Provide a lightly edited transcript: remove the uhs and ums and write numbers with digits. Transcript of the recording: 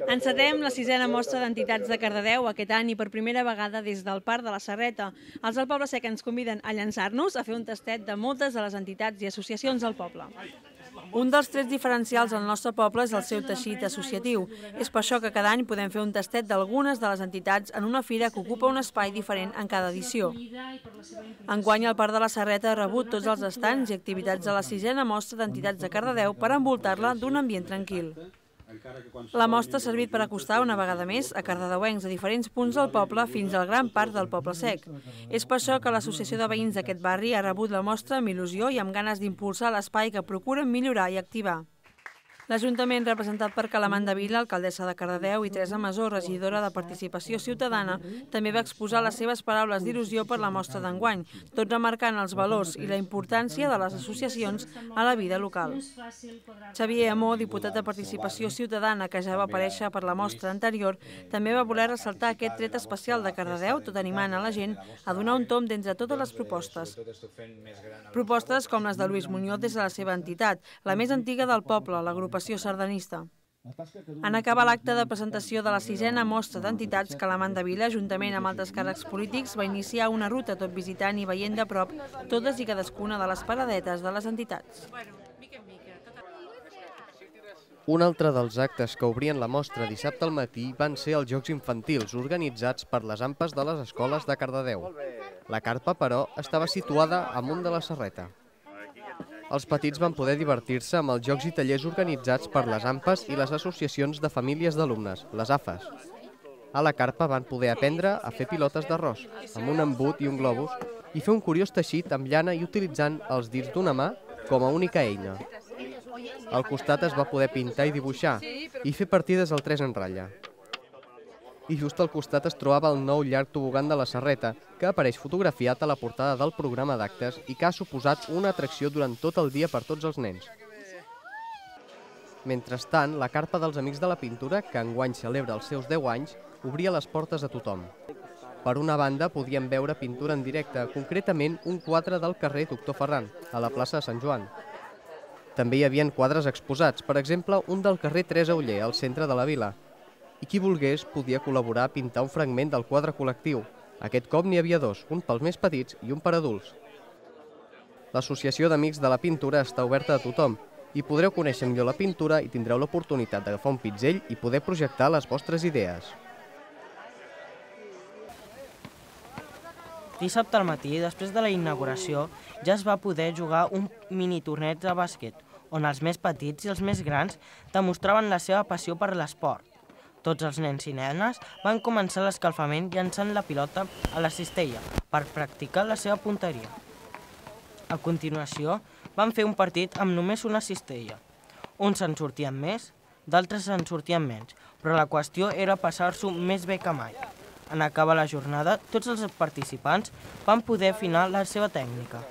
Encetem la 6a mostra d'entitats de Cardedeu aquest any i per primera vegada des del Parc de la Serreta. Els del Poble Sec ens conviden a llançar-nos a fer un tastet de moltes de les entitats i associacions del poble. Un dels trets diferencials del nostre poble és el seu teixit associatiu. És per això que cada any podem fer un tastet d'algunes de les entitats en una fira que ocupa un espai diferent en cada edició. Enguany el Parc de la Serreta ha rebut tots els estands i activitats de la 6a mostra d'entitats de Cardedeu per envoltar-la d'un ambient tranquil. La mostra ha servit per acostar una vegada més a cardedeuencs a diferents punts del poble fins al gran parc del Poble Sec. És per això que l'associació de veïns d'aquest barri ha rebut la mostra amb il·lusió i amb ganes d'impulsar l'espai que procuren millorar i activar. L'Ajuntament, representat per Calamanda Vila, alcaldessa de Cardedeu, i Teresa Masó, regidora de Participació Ciutadana, també va exposar les seves paraules d'il·lusió per la mostra d'enguany, tot remarcant els valors i la importància de les associacions a la vida local. Xavier Amó, diputat de Participació Ciutadana, que ja va aparèixer per la mostra anterior, també va voler ressaltar aquest tret especial de Cardedeu, tot animant a la gent a donar un tomb d'entre totes les propostes. Propostes com les de Lluís Muñoz des de la seva entitat, la més antiga del poble, l'agrupació sardanista. En acabar l'acte de presentació de la 6a mostra d'entitats, Calamanda Vila, juntament amb altres càrrecs polítics, va iniciar una ruta tot visitant i veient de prop totes i cadascuna de les paradetes de les entitats. Un altre dels actes que obrien la mostra dissabte al matí van ser els Jocs Infantils organitzats per les AMPAs de les escoles de Cardedeu. La carpa, però, estava situada amunt de la Serreta. Els petits van poder divertir-se amb els jocs i tallers organitzats per les AMPAs i les associacions de famílies d'alumnes, les AFAs. A la carpa van poder aprendre a fer pilotes d'arròs, amb un embut i un globus, i fer un curiós teixit amb llana i utilitzant els dits d'una mà com a única eina. Al costat es va poder pintar i dibuixar, i fer partides al 3 en ratlla. I just al costat es trobava el nou llarg tobogan de la Serreta, que apareix fotografiat a la portada del programa d'actes i que ha suposat una atracció durant tot el dia per tots els nens. Mentrestant, la carpa dels Amics de la Pintura, que enguany celebra els seus 10 anys, obria les portes a tothom. Per una banda, podíem veure pintura en directe, concretament un quadre del carrer Doctor Ferran, a la plaça de Sant Joan. També hi havia quadres exposats, per exemple, un del carrer Teresa Oller, al centre de la vila. I qui volgués podia col·laborar a pintar un fragment del quadre col·lectiu. Aquest cop n'hi havia dos, un pels més petits i un per adults. L'Associació d'Amics de la Pintura està oberta a tothom i podreu conèixer millor la pintura i tindreu l'oportunitat d'agafar un pinzell i poder projectar les vostres idees. Dissabte al matí, després de la inauguració, ja es va poder jugar un mini torneig de bàsquet, on els més petits i els més grans demostraven la seva passió per l'esport. Tots els nens i nenes van començar l'escalfament llançant la pilota a la cistella per practicar la seva punteria. A continuació, van fer un partit amb només una cistella. Uns en sortien més, d'altres en sortien menys, però la qüestió era passar-s'ho més bé que mai. En acabar la jornada, tots els participants van poder afinar la seva tècnica.